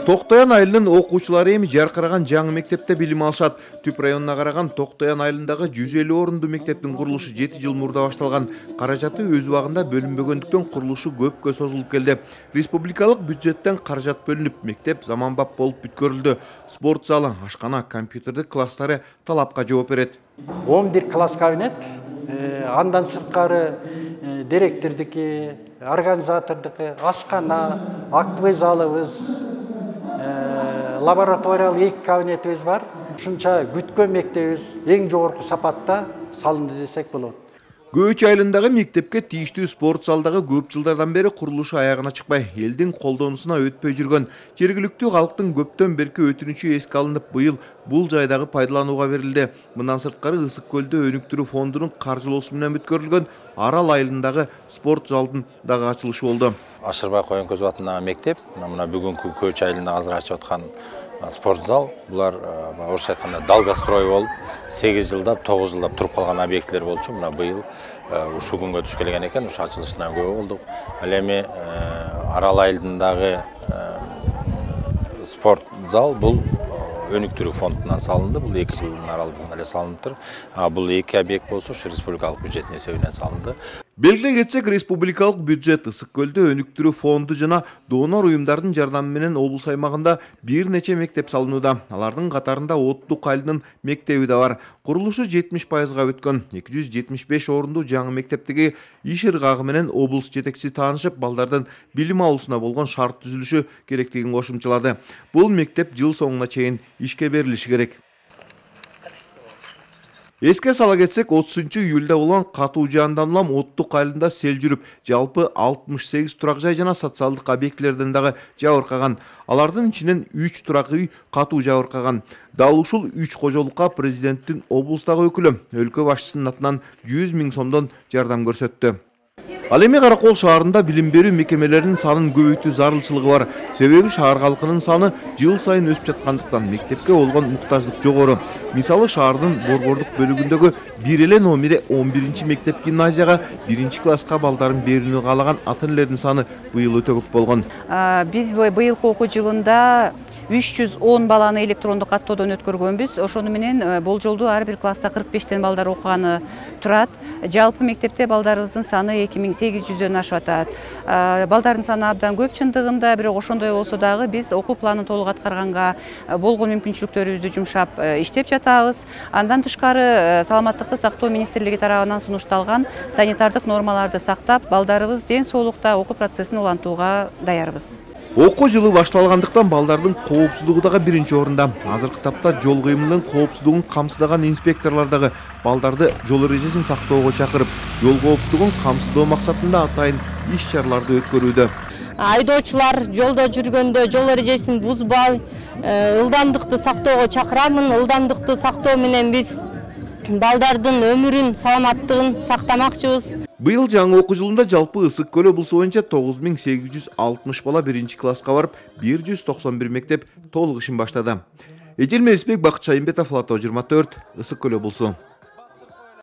Токтоян айылынын окуучулары эми жаркыраган жаңы мектепте билим алышат. Түп районуна караган Токтоян айылындагы 150 орунду мектептин курулушу 7 жыл мурда башталган. Каражаты өз убагында бөлүнбөгөндүктөн курулушу көпкө созулуп келди. Республикалык бюджеттен каражат бөлүнүп, мектеп заманбап болуп бүткөрүлдү. Спорт залы, ашкана, компьютердик класстары талапка жооп берет. 11 класс кабинет, андан сырткары директордуки, организатордуки, ашкана, актовый залыбыз, лабораториялык 2 кабинетибиз бар. Ушунча күткөн мектебибиз эң жогорку сапатта салынды десек болот. Көөч айылындагы мектепке тийиштүү спорт залдагы көп жылдардан бери курулушу аягына чыкпай, элдин колдонусуна өтпөй жүргөн. Жергиликтүү калктын көптөн берки өтүнүчү эске алынып, быйыл бул жайдагы пайдаланууга берилди. Мындан сырткары Ысык көлдө өнүктүрүү фондунун каржылоосу менен бүткөрүлгөн Арал айылындагы спорт залдын дагы ачылышы болду. Ашырбай Коенкөзү атындагы мектеп, мына бүгүнкү Көөч айылында азыр ачып аткан спорт зал, булар орусча айтканда долгострой болуп, 8 жылдап, 9 жылдап туруп калган объекттер болчу. Мына быйыл ушул күнгө туш келген экен, ушу ачылышына күбө болдук. Ал эми Арал айылындагы спорт зал бул өнүктүрүү фондунан салынды. Бул 2 жылдын аралыгында эле салыныптыр. Бул 2 объект болсо, республикалык бюджеттин эсебинен салынды. Белгилей кетсек, республикалык бюджет Ысык көлдө өнүктүрүү фонду жана донор уюмдардын жардамы менен облус аймагында бир нече мектеп салынууда. Алардын катарында Оттук айылынын мектеби да бар. Курулушу 70%га өткөн. 275 орунду жаңы мектептеги иш ыргагы менен облус жетекчиси таанышып, балдардын билим алуусуна болгон шарт түзүлүшү керектигин кошумчалады. Бул мектеп жыл соңуна чейин ишке берилиши керек. Эске сала кетсек, 30-июлда болгон катуу жаандан улам Оттук айылында сел жүрүп, жалпы 68 турак жай жана социалдык объектилерден дагы жабыркаган. Алардын ичинен 3 турак үй катуу жабыркаган. Дал ушул 3 кожолукка президенттин облустагы өкүлү өлкө башчысынын атынан 100 000 сомдон жардам көрсөттү. Ал эми Каракол шаарында билим берүү мекемелеринин санын көбөйтүү зарылчылыгы бар. Себеби шаар халкынын саны жыл сайын өсүп жаткандыктан мектепке болгон муктаждык жогору. Мисалы, шаардын борбордук бөлүгүндөгү бир эле номери 11 мектеп гимназияга 1 класска балдарын берүүнү каалаган ата-энелердин саны быйыл өтө көп болгон. Биз быйылкы окуу жылында 310 баланы электрондук каттоодон өткөргөнбүз. Ошону менен болжолдуу ар бир класста 45 балдар окуганы турат. Жалпы мектепте балдарыбыздын саны 2800дөн ашып атат. Балдардын саны абдан көп чындыгында, бирок ошондой болсо дагы биз окуу планын толук аткарганга болгон мүмкүнчүлүктөрүбүздү жумшап иштеп жатабыз. Андан тышкары саламаттыкты сактоо министрлиги тарабынан сунушталган санитардык нормаларды сактап, балдарыбыз ден соолукта окуу процессин улантууга даярбыз. Окуу жылы башталгандыктан балдардын коопсуздугу дагы биринчи орунда. Азыркы тапта жол кыймылынын коопсуздугун камсыздаган инспекторлор дагы балдарды жол эрежесин сактоого чакырып, жол коопсуздугун камсыздоо максатында атайын иш-чараларды өткөрүүдө. Айдоочулар жолдо жүргөндө жол эрежесин бузбай, ылдамдыкты сактоого чакырамын. Ылдамдыкты сактоо менен биз балдардын өмүрүн, саламаттыгын сактамакчыбыз. Быйыл жаңы окуу жылында жалпы Ысык көл облусу боюнча 9860 бала 1 класска барып, 191 мектеп толук ишин баштады. Эжил Мелисбек, Бакыт Шайымбетов, Лото 24, Ысык көл облусу.